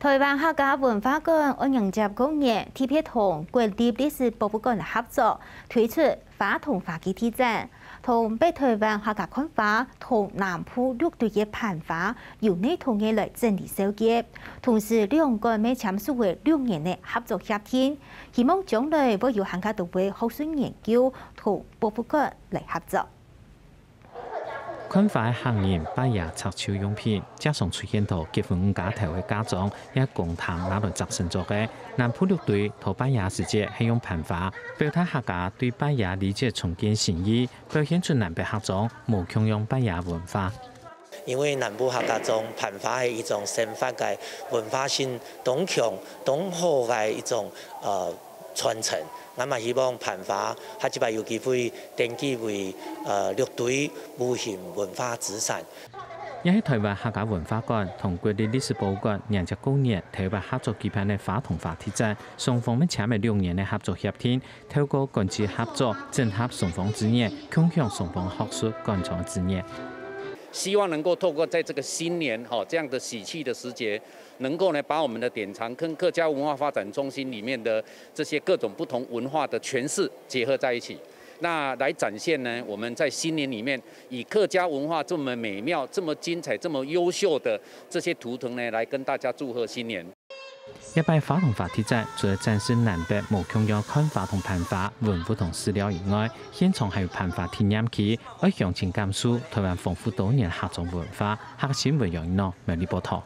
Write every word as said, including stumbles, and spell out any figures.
臺灣客家文化館二零一九年特別同國立歷史博物館合作，推出花同花个特展，同北臺灣客家看花同南部六堆个盤花有系統个來整理收集。同時，兩館乜簽署了六年个合作協定，希望將來會有還較多个學術研究同博物館來合作。 看花个客人、拜爺、插繡用品，加上出現到結婚五加頭个嫁妝，也公廳拿來摘成做个。南部六堆討拜爺時節係用盤花，表達客家對拜爺禮節重建心意，表現出南北客庄無共樣拜爺文化。因為南部客家庄盤花係一種生活个文化性當強、當好个一種呃傳承，𠊎嘛希望盤花下一擺有機會 登記為呃六堆無形文化資產。也係臺灣客家文化館同國立歷史博物館迎接過年頭擺合作舉辦个花同花特展，雙方乜簽了六年个合作協定，透過館際合作，整合雙方資源，共享雙方學術館藏資源。希望能夠透過在這個新年哈這樣的喜氣的時節，能夠呢把我們的典藏跟客家文化發展中心裡面的這些各種不同文化的詮釋結合在一起。 那來展現呢，我們在新年裡面以客家文化這麼美妙、這麼精彩、這麼優秀的這些圖騰呢，來跟大家祝賀新年。這擺花同花特展除了展示南北無共樣看花同盤花、文物同史料以外，現場還有盤花體驗區，愛詳情感受臺灣豐富多元客庄文化。客家新聞楊一諾，苗栗報導。